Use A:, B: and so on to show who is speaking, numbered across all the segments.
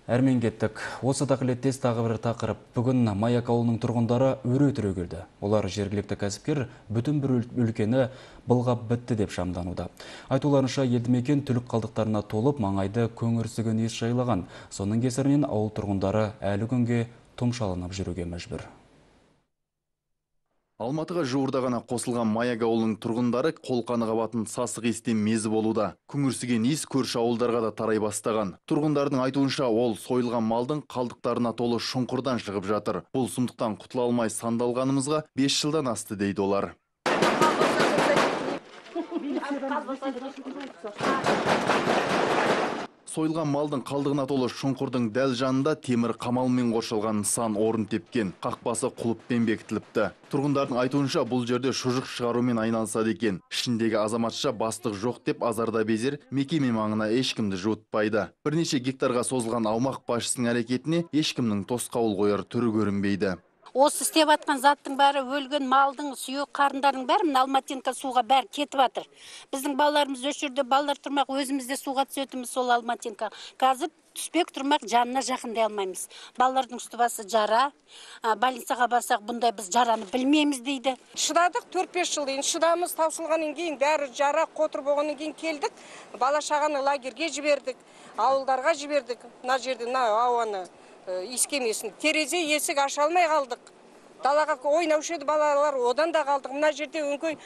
A: Әрмен кеттік. Осы тақылеттес тағы бір тақырып. Бүгін Маяк ауылының тұрғындары өре түрегелді. Олар жергілікті кәсіпкер бүтін бір өлкені былғап бітті деп шамдануда. Айтуларынша елді мекен түлік қалдықтарына толып, маңайды көңірсіген ес жайлаған. Соның кесірінен ауыл тұрғындары әлі күнге тұмшаланып жүруге мәжбүр.
B: Алматыға жуырда ғана қосылған Маяк ауылының тұрғындары қолқаны қабатын сасық естен мезі болуда. Күңірсіген иіс көрші ауылдарға да тарай бастаған. Тұрғындардың айтуынша ол сойылған малдың қалдықтарына толы шұңқырдан шығып жатыр. Бұл сұмдықтан құтыла алмай сандалғанымызға 5 жылдан асты дейді олар. Сойылған малдың қалдығына толы шұңқырдың дәл жанында темір қамалмен қоршалған нысан орын тепкен, қақпасы құлыппен бекітіліпті. Тұрғындардың айтуынша бұл жерде шұжық шығарумен айналысады екен. Ішіндегі азаматша бастық жоқ деп азарда безер, мекеме маңына ешкімді жуытпайды. Бірнеше гектарға созылған аумақ басшысының әрекетіне ешкімнің тосқауыл қояр түрі көрінбейді.
C: Осы істеп атқан заттың бәрі өлген малдың, сүйек қарындардың бәрі мына Алматинка суға бәрі кетіп жатыр. Біздің балаларымыз өш жерде балалар тұрмақ, өзімізде суға түсетіміз сол Алматинка. Қазір түспек тұрмақ, жанына жақындай алмаймыз. Балалардың үсті басы жара, больницаға барсақ бұндай біз жараны білмейміз дейді.
D: Шыдадық 4-5 жыл дейін, шыдамыз таусылғаннан кейін бәрі жара қотыр болғаннан кейін келдік. Бала шағаны лагерге жібердік, ауылдарға жібердік. Мына жерде ауаны искемесін. Терезе есік аша алмай қалдық. Далаға ойнаушы еді балалар, одан да қалдық. Мына жерде өңкөй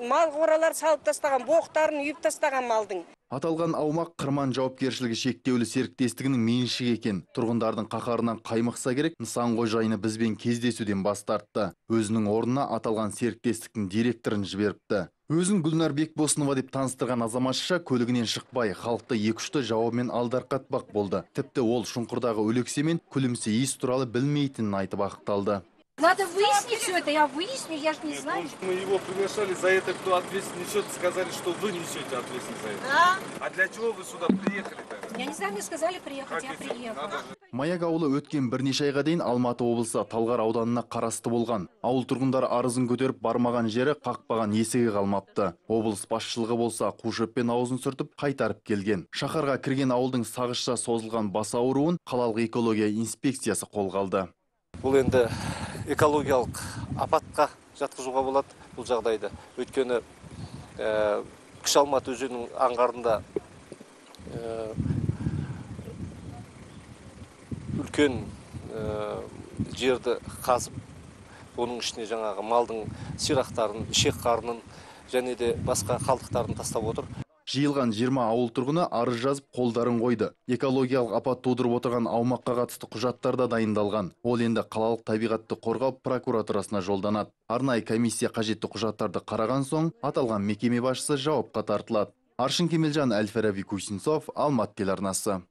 D: мал қоралар салып тастаған, боқтарын үйіп тастаған малдың.
B: Аталған аумақ Қырман жауапкершілігі шектеулі серіктестігінің меншігі екен. Тұрғындардың қақарынан қаймықса керек, нысан қожайыны бізбен кездесуден бас тартты. Өзінің орнына аталған серіктестіктің директорын жіберіпті. Өзін Гүлнар Бекбосынова деп таныстырған азаматша көлігінен шықпай, халықты екі-үшті жауабымен алдарқатпақ болды. Тіпті ол шұңқырдағы өлексе мен күлімсе иіс туралы білмейтінін айтып ақталды.
E: Надо выяснить все это, я выясню, я же не знаю.
F: Мы его приглашали, за это кто ответственность несет, сказали, что вы несете ответственность за это.
E: Да.
F: А для чего вы сюда приехали-то?
E: Я не знаю, мне сказали приехать, я приехала.
B: Маяк ауылы өткен бірнеше айға дейін Алматы облысы Талғар ауданына қарасты болған. Ауыл тұрғындары арызын көтеріп бармаған жері қақпаған есігі қалмапты. Облыс басшылығы болса қушеппен аузын сүртіп қайтарып келген. Шаһарға кірген ауылдың сағызша созылған бас ауруын қалалық экология инспекциясы қолға алды.
G: Бұл енді экологиялық апатқа жатқызуға болады бұл жағдайды. Өйткені Кіші Алматы өзенінің аңғарында үлкен жерді қазып, оның ішіне жаңағы малдың сирақтарын, ішек қарынын және де басқа қалдықтарын тастап отыр.
B: Жиылған 20 ауыл тұрғыны арыз жазып қолдарын қойды. Экологиялық апат тудырып отырған аумаққа қатысты құжаттар да дайындалған. Ол енді қалалық табиғатты қорғау прокуратурасына жолданады. Арнайы комиссия қажетті құжаттарды қараған соң, аталған мекеме басшысы жауапқа тартылады. Аршын Кемелжан, Әл-Фараби Кусинцов, Алматы телеарнасы.